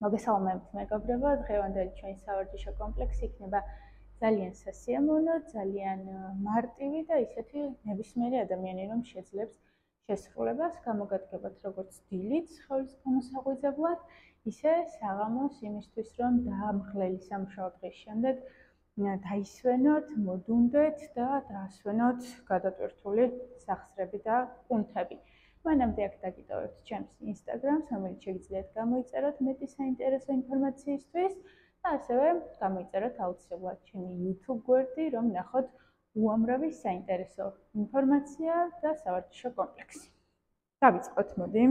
მოგესალმებით მეგობრებო, დღევანდელი ჩვენი სავარჯიშო კომპლექსი იქნება ძალიან სასიამოვნო, ძალიან მარტივი და ისეთი ნებისმიერი ადამიანი, რომ შეძლებს შესრულებას, გამოგადგებათ როგორც დილით სხეულის გამოსაღვიძებლად, ისე საღამოს იმისთვის, რომ დაამღლელი სამუშაო დღის შემდეგ დაისვენოთ, მოდუნდეთ და დაასვენოთ გადატვირთული სახსრები და კუნთები. მანამდე აქ დაგიტოვებთ ჩემს Instagram-ს, რომელიც შეგიძლიათ გამოიწეროთ მეტი საინტერესო ინფორმაციისთვის და ასევე გამოიწეროთ აუცილებლად ჩემი YouTube გვერდი, რომ ნახოთ უამრავი საინტერესო ინფორმაცია და სავარჯიშო კომპლექსი. დავიწყოთ, მოდი.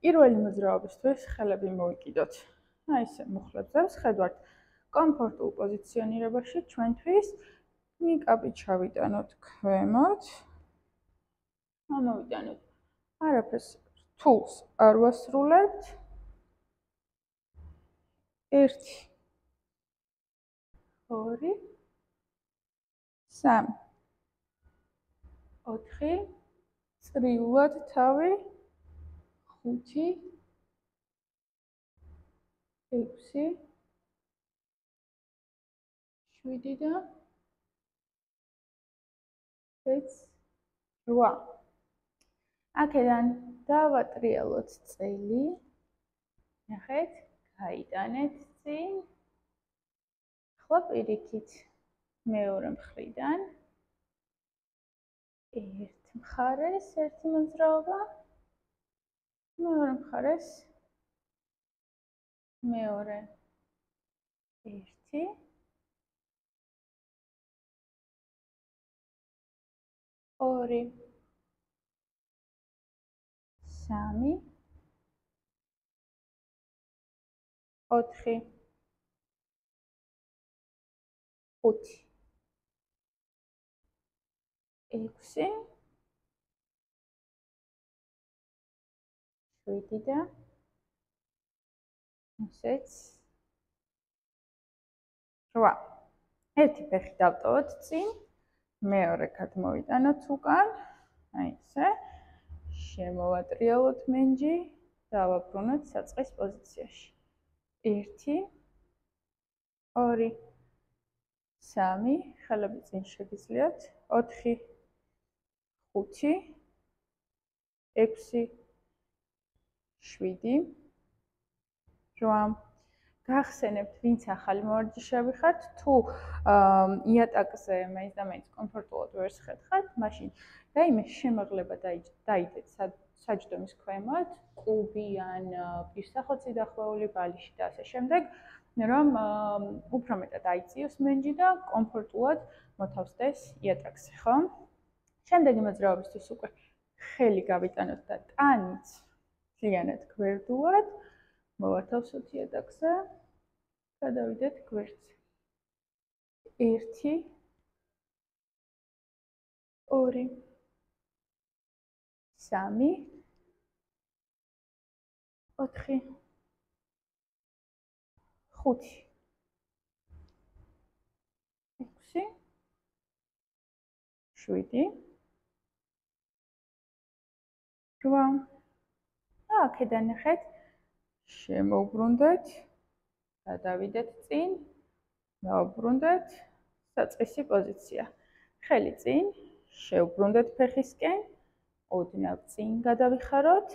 პირველი მოძრაობისთვის ხელები მოვიკიდოთ. ესე მუხლებზე ვხედავთ კომფორტულ პოზიციონირებაში ჩვენთვის. ნიკაპი ჩავიტანოთ ქვემოთ. ამოვიტანოთ. არაფერს რთულს არ ვასრულებთ. 1 2 3 4 წრიულად თავი 5 6 7 და 8 აქედან დავატრიალოთ წელი. ნახეთ, გაიტანეთ წინ. ახლა პირიქით მეორე მხრიდან ერთ მხარეს ერთი მოძრაობა, მეორე მხარეს მეორე 1 2 3 4 5 6 7 და 8 ერთი ფეხი დავტოვოთ წინ, მეორე გადმოვიტანოთ უკან, აი ესე. შემოვატრიალოთ მენჯი, დავაბრუნოთ საწყის პოზიციაში. 1 2 3 ხელები წინ შეგიძლიათ, 4 5 6 7 8 გახსენებთ, ვინც ახალი მოვარჯიშეები ხართ, თუ იატაკზე მაინც და მაინც კომფორტულად ვერ შეხებთ, მაშინ რაიმე შემაღლება დაიდეთ საჯდომის ქვემოთ, კუბი ან პირსახოცი დახვეული ბალიში და ასე შემდეგ, რომ უფრო მეტად აიწიოს მენჯი და კომფორტულად მოთავსდეს იატაკზე, ხო? შემდეგი მოძრაობისთვის უკვე ხელი გავიტანოთ და ტანიც ძალიანად გვერდულად მოვათავსოთ იატაკზე. გადავიდეთ გვერდზე. 1 2 3 4 5 6 7 8 აქედან ნახეთ, შემოვბრუნდეთ, გადავიდეთ წინ, დავბრუნდეთ, საწყისი პოზიცია. ხელი წინ, შევბრუნდეთ ფეხისკენ, ოდნავ წინ გადავიხაროთ,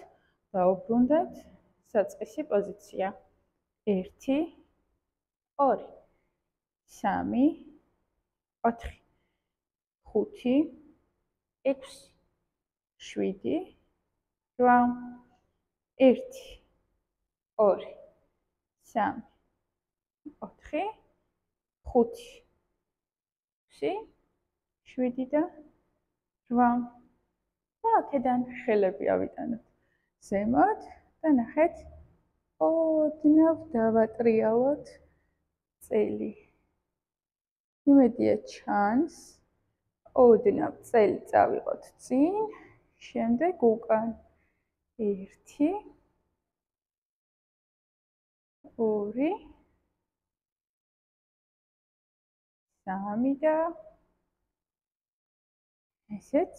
დავბრუნდეთ, საწყისი პოზიცია. 1 2 3 4 5 6 7 8 1 2 3 4 5 6 7 და 8 და აქედან ხელები ავიტანოთ ზემოთ და ნახეთ, ოდნავ დავატრიალოთ წელი. იმედია ჩანს, ოდნავ წელი წავიღოთ წინ, შემდეგ უკან. 1 2 3 და ესეც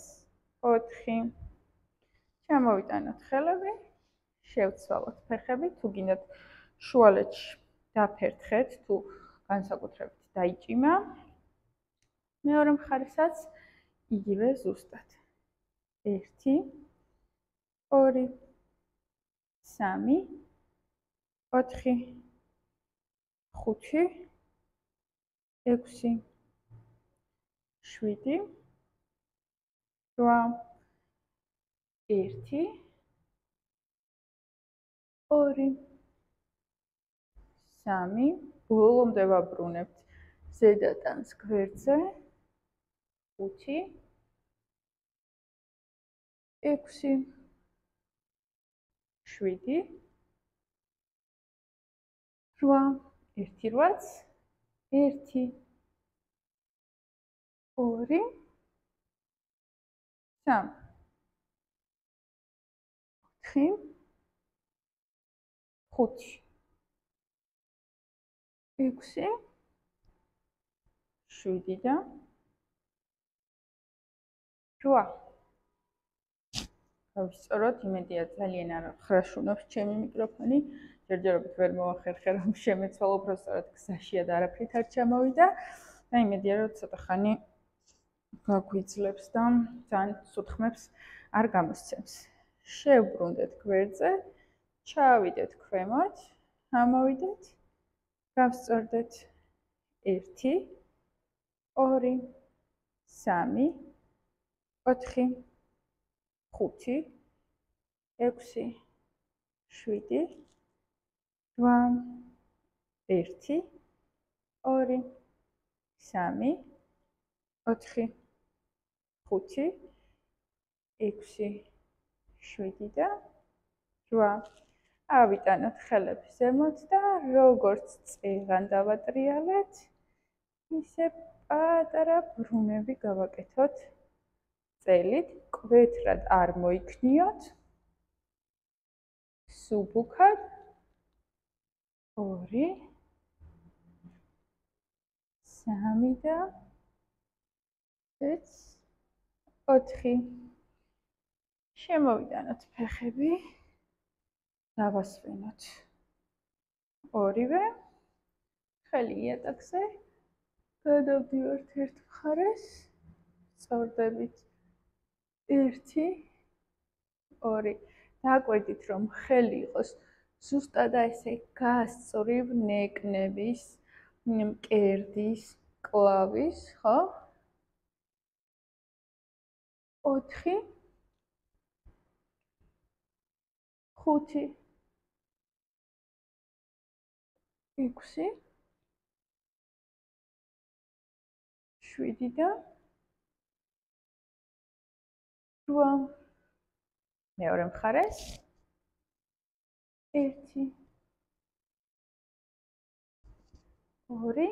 4. ჩამოვიტანოთ ხელები, შევცვალოთ ფეხები, თუ გინდათ შუალედში დაფერთხეთ, თუ განსაკუთრებით დაიჭიმა. მეორე მხარესაც იგივე ზუსტად. 1 2 3 4 5 6 7 8 1 2 3 ბოლომდე ვაბრუნებთ ზედატანს გვერდზე 5 6 7 8 1 8 1 2 3 4 5 6 7 და 8 გავისწოროთ, იმედია ძალიან არ ხრაშუნობს ჩემი მიკროფონი. ჯერჯერობით ვერ მოახერხე რომ შემეცვალო, უფრო სწორად გზაშია და არაფრით არ ჩამოვიდა. და იმედია რომ ცოტა ხანი გაგვიძლებს და ძალიან სუთხმებს არ გამოსცემს. შევბრუნდეთ გვერდზე, ჩავიდეთ ქვემოთ, ამოვიდეთ, გავსწორდეთ 1 2 3 4 5 6 7 8 1 2 3 4 5 6 7 და 8 ავიტანოთ ხელები ზემოთ და როგორც წეღან დავატრიალეთ, ისე პატარა ბრუნები გავაკეთოთ წელით, კვეთრად არ მოიქნიოთ, სუბუქად 2 3 და 4 შემოვიდანოთ ფეხები, დავასვენოთ ორივე, ხელი იატაკზე, გადავდივართ ერთ მხარეს, სწორდებით 1 2 დააკვირდით რომ ხელი იყოს ზუსტად ესე გასწვრივ ნეკნების, მკერდის, კლავის, ხო? 4 5 6 7 და 8 მეორე მხარეს 1 2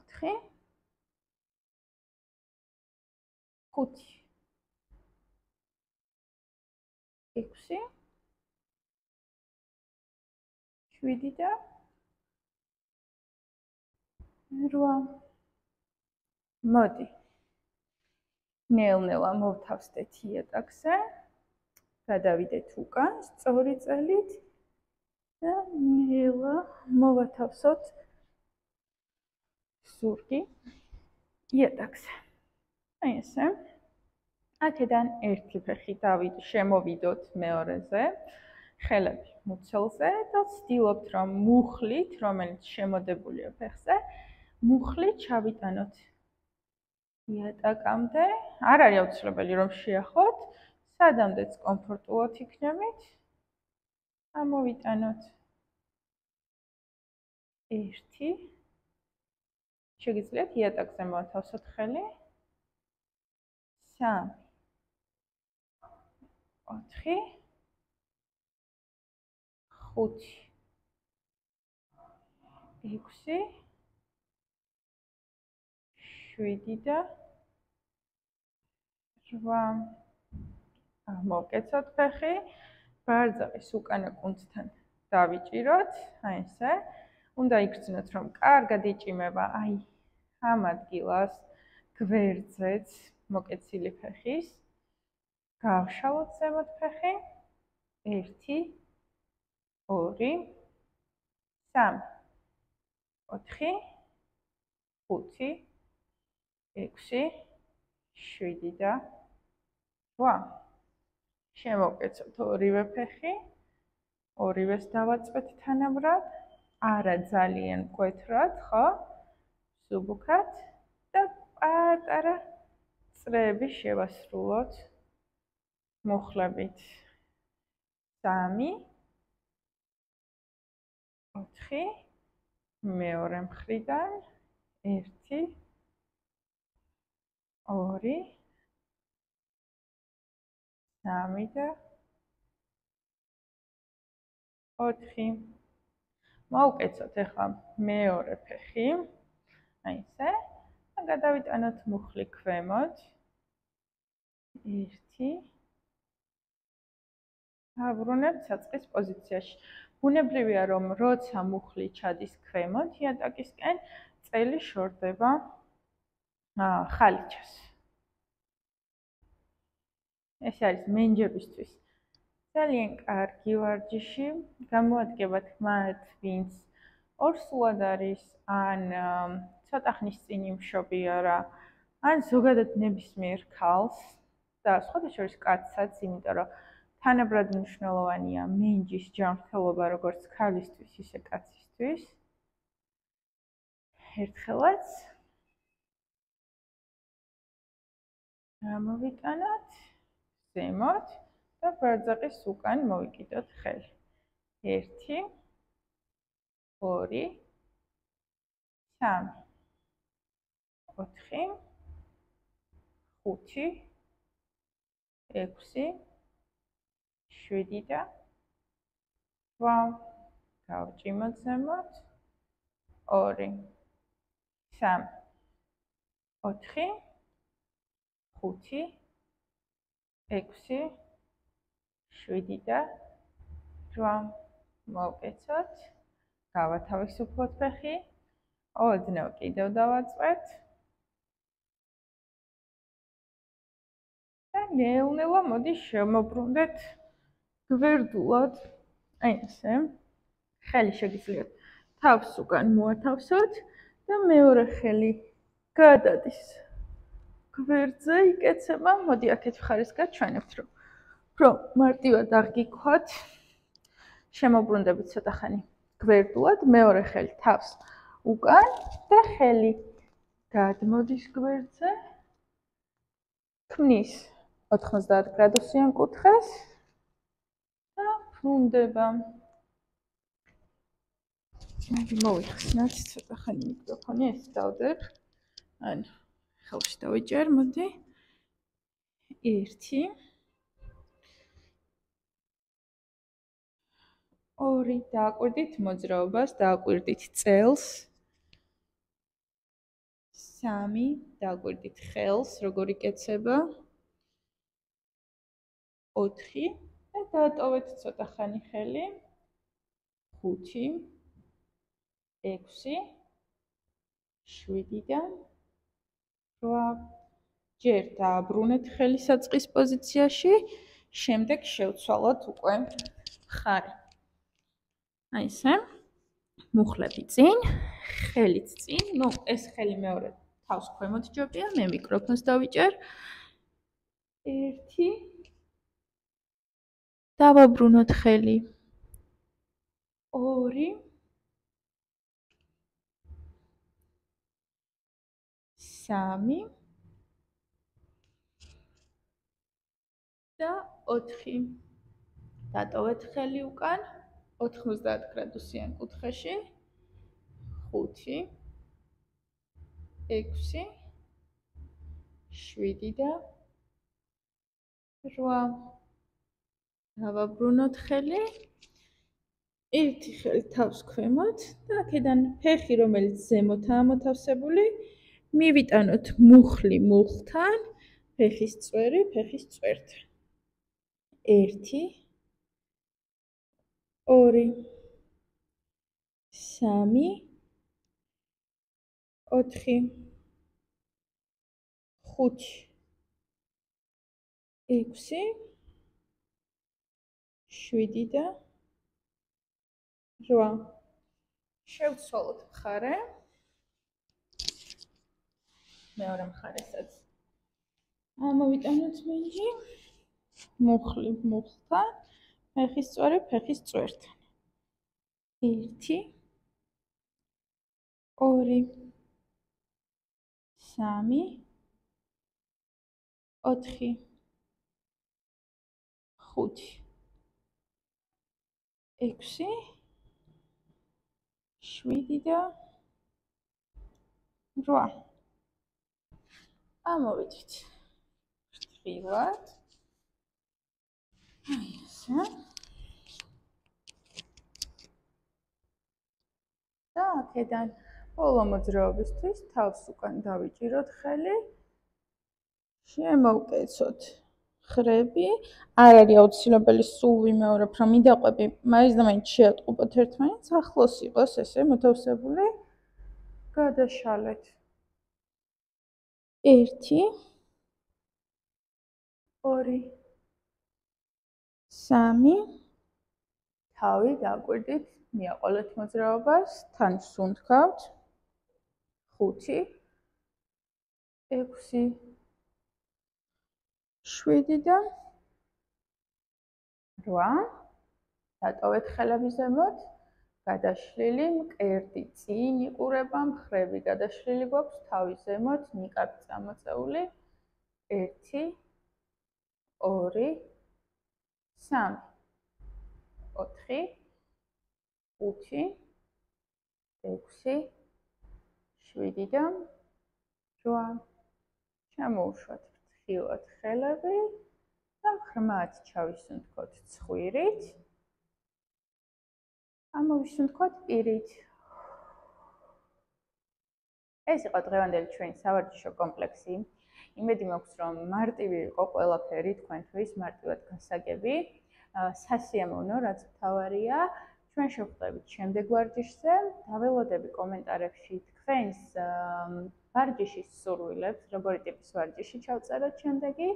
3 4 5 6 7 და 8 მოდი ნელ-ნელა მოვთავსდეთ იატაკზე, გადავიდეთ უკან სწორი წელით და ნელა მოვათავსოთ ზურგი იატაკზე. აი ესე. აქედან ერთი ფეხი შემოვიდოთ მეორეზე, ხელები მუცელზე და ვცდილობთ რომ მუხლით, რომელიც შემოდებულია ფეხზე, მუხლით ჩავიტანოთ იატაკამდე. არ არის აუცილებელი რომ შეახოთ, სადამდეც კომფორტულად იქნებით. ამოვიტანოთ 1 შეგიძლიათ იატაკზე მოვათავსოთ ხელი 3 4 5 6 7 და 8 მოვკეცოთ ფეხი, ბარძაყის უკანა კუნთთან დავიჭიროთ, აი ესე. უნდა იგრძნოთ რომ კარგად იჭიმება აი ამ ადგილას გვერდზეც მოკეცილი ფეხის, გავშალოთ ზემოთ ფეხი, 1, 2, 3, 4, 5, 6, 7 და 8. შემოვკეცოთ ორივე ფეხი, ორივეს დავაწყვეთ თანაბრად, არა ძალიან მკვეთრად, ხო? სუბუქად და პატარა წრეები შევასრულოთ მუხლებით. 3, 4, მეორე მხრიდან 1, 2, 3 და 4. მოვუკეცოთ ახლა მეორე ფეხი, აი ესე, და გადავიტანოთ მუხლი ქვემოთ. 1, დაბრუნებთ საწყის პოზიციაში. ბუნებრივია, რომ როცა მუხლი ჩადის ქვემოთ იატაკისკენ, წელი შორდება ხალიჩას. ეს არის მენჯებისთვის ძალიან კარგი ვარჯიში. გამოადგებათ მათ, ვინც ორსულად არის, ან ცოტა ხნის წინ იმშობია რა, ან ზოგადად ნებისმიერ ქალს და სხვადასხვა შორის კაცსაც, იმიტომ რომ თანაბრად მნიშვნელოვანია მენჯის ჯანმრთელობა როგორც ქალისთვის, ისე კაცისთვის. ერთხელაც გამოვიტანოთ ზემოთ და ბარძაყის უკან მოვიკიდოთ ხელი. 1, 2, 3, 4, 5, 6, 7 და 8. გავჭიმოთ ზემოთ. 2, 3, 4, 5, 6, 7 და 8. მოვკეცოთ. გავათავისუფლოთ ფეხი. ოდნავ კიდევ დავაწყვეთ. და ნელა-ნელა მოდი შემოbrunდეთ გვერდულად. აი ესე. ხელი შეგიძლიათ თავს უკან მოათავსოთ და მეორე ხელი გადადის გვერდზე, იკეცება. მოდი აქეთ მხარეს გაჩვენებთ, რომ მარტივად აღგიქვათ. შემოbrunდებით ცოტა ხანი გვერდულად, მეორე ხელი თავს უკან და ხელი გადმოდის გვერდზე. ქმნის 90 გრადუსიან კუთხეს და ბრუნდება. მოვიხსნათ ცოტა ხანი მიკროფონი, ეს დავდებ. ანუ ხელში დავიჭერ, მოდი. 1, 2, დააკვირდით მოძრაობას, დააკვირდით წელს. 3, დააკვირდით ხელს, როგორ იკეცება. 4 და დაატოვეთ ცოტა ხანი ხელი. 5, 6, 7 და 8. ჯერ დააბრუნეთ ხელი საწყის პოზიციაში, შემდეგ შევცვალოთ უკვე ხარი. აი ესე. მუხლები წინ, ხელიც წინ. ნუ ეს ხელი მეორე თავს ქვემოთ ჯობია, მე მიკროფონს დავიჭერ. 1 დავაბრუნოთ ხელი. 2 3 და 4. დატოვეთ ხელი უკან 90 გრადუსიან კუთხეში. 5 6 7 და 8. დავაბრუნოთ ხელი. ერთი ხელი თავს ქვემოთ და აქედან ფეხი, რომელიც ზემოთაა მოთავსებული, მივიტანოთ მუხლი მუხლთან, ფეხის წვერი ფეხის წვერთან. 1 2 3 4 5 6 7 და 8 შევცვალოთ მხარე მეორე მხარესაც ამოვიტანოთ მინჯი მუხლი მუხლთან ფეხის სწორი ფეხის წვერთან 1 2 3 4 5 6 7 და 8 ამოვიდეთ ფრთხილად აი ესე და აქედან ბოლო მოძრაობისთვის თავს უკან დავიჭიროთ ხელი შემოვკეცოთ ხრები არ არის აუცილებელი სულ ვიმეორებ რომ მიდაყვები მაინც და მაინც შეატყუპოთ ერთმანეთს ახლოს იყოს ესე მოთავსებული გადაშალეთ 1 2 3 თავი დაკვირდით მიაყოლეთ მოძრაობას თან სუნთქავთ 5 6 7 და 8 დატოვეთ ხელები ზემოთ გადაშლილი მკერდი წინ იყურება მხრები გადაშლილი გვაქვს თავი ზემოთ ნიკაპი წამოწეული 1 2 3 4 5 6 7 და 8 შემოუშვათ ფრთხილად ხელები და ღრმად ჩავისუნთქოთ ცხვირით ამოვისუნთქოთ პირით ეს იყო დღევანდელი ჩვენი სავარჯიშო კომპლექსი იმედი მაქვს რომ მარტივი იყო ყველაფერი თქვენთვის მარტივად გასაგები სასიამოვნო რაც მთავარია ჩვენ შევხვდებით შემდეგ ვარჯიშზე დაველოდები კომენტარებში თქვენს ვარჯიშის სურვილებს როგორი ტიპის ვარჯიში ჩავწეროთ შემდეგი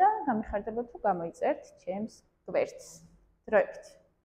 და გამიხარდებათ თუ გამოიწერთ ჩემს გვერდს დროებით